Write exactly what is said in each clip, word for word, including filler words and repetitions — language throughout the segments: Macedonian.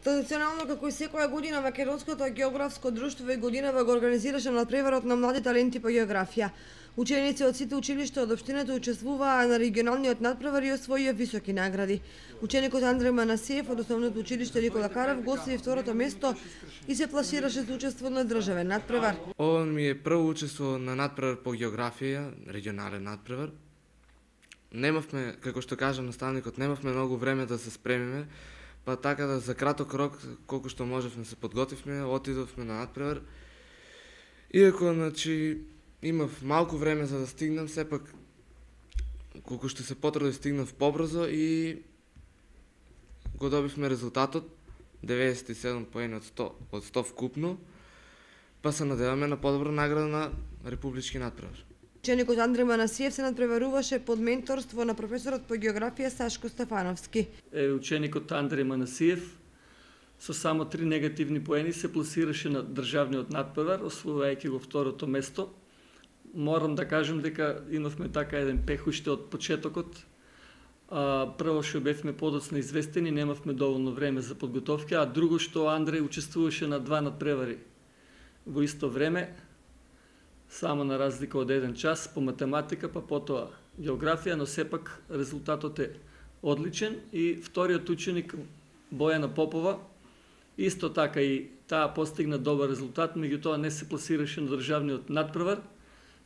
Традиционално, како и секоја година, Македонското географско друштво и годинава го организираше надпреварот на млади таленти по географија. Ученици од сите училишта од општината учествуваа на регионалниот надпревар и освоија високи награди. Ученикот Андреј Манасиев од основното училиште Никола Карев го освои второто место и се пласираше за учество на државен надпревар. Ова ми е прво учество на надпревар по географија, регионален надпревар. Немавме, како што кажа наставникот, немавме многу време да се спремиме, па така да за краток рок, колку што можевме се подготвивме, отидовме на надпревар. Иако, значи, имав малку време за да стигнам, сепак, колку што се потрудив, стигнав побрзо и го добивме резултатот, деветдесет и седум поени од сто, од сто вкупно, па се надеваме на подобра награда на републички надпревар. Ученикот Андреј Манасиев се надпреваруваше под менторство на професорот по географија Сашко Стефановски. Е, ученикот Андреј Манасиев со само три негативни поени се пласираше на државниот надпревар, освојувајќи го второто место. Морам да кажам дека имавме така еден пех уште од почетокот. А, прво што бевме подоцна известени, немавме доволно време за подготовка, а друго што Андреј учествуваше на два надпревари во исто време, само на разлика од еден час по математика, па потоа географија, но сепак резултатот е одличен и вториот ученик Бојана Попова исто така и таа постигна добар резултат, меѓутоа не се пласираше на државниот надпревар,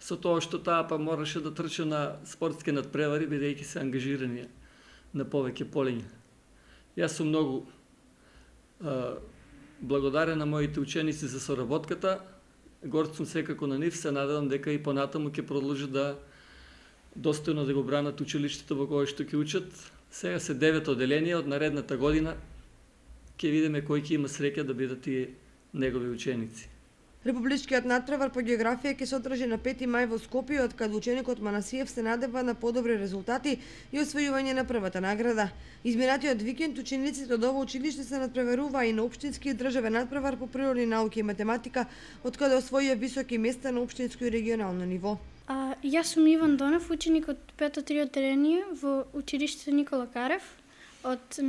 со тоа што таа па мораше да трча на спортски надпревари, бидејќи се ангажирани на повеќе полиња. Јас сум многу а, благодарен на моите ученици за соработката. Горд сум секако на нив, се надевам дека и понатаму ќе продолжат да достојно да го бранат училиштето во кое што ќе учат. Сега се девет оделение, од наредната година ќе видиме кој ќе има среќа да бидат и негови ученици. Републичкиот надпревар по географија ќе се одржи на пети мај во Скопје, од каде ученикот Манасиев се надева на подобри резултати и освојување на првата награда. Изминатиот викенд учениците од ова училиште се надпреваруваа и на општински и државен надпревар по природни науки и математика, од каде освоија високи места на општинско и регионално ниво. А, јас сум Иван Донев, ученик од пето три оделение во училиштето Никола Карев, од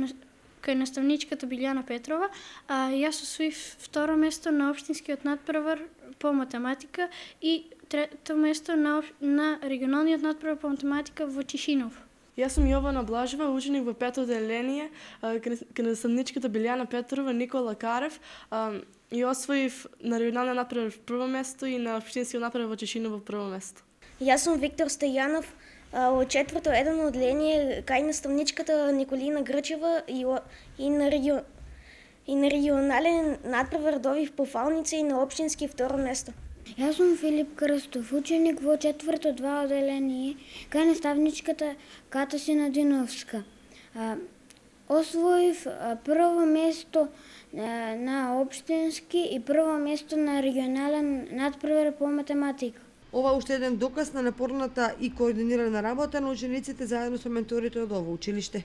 кај наставничката Билјана Петрова, а јас освоив второ место на општинскиот надпревар по математика и трето место на, на регионалниот надпревар по математика во Чишинов. Јас сум Јована Блажева, ученик во пето оделение кај наставничката Билјана Петрова, Никола Карев, и освоив на регионалниот надпревар прво место и на општинскиот надпревар во Чишинов во прво место. Јас сум Виктор Стајанов, од четврто едно оделение кај наставничката Николина Грчева и, и, на, регион, и на регионален надпревар добив по фалница и на општински второ место. Јас сум Филип Крстов, ученик во четврто два оделение кај наставничката Ката Синадиновска. Освоив прво место на општински и прво место на регионален надпревар по математика. Ова уште еден доказ на напорната и координирана работа на учениците заедно со менторите од ова училиште.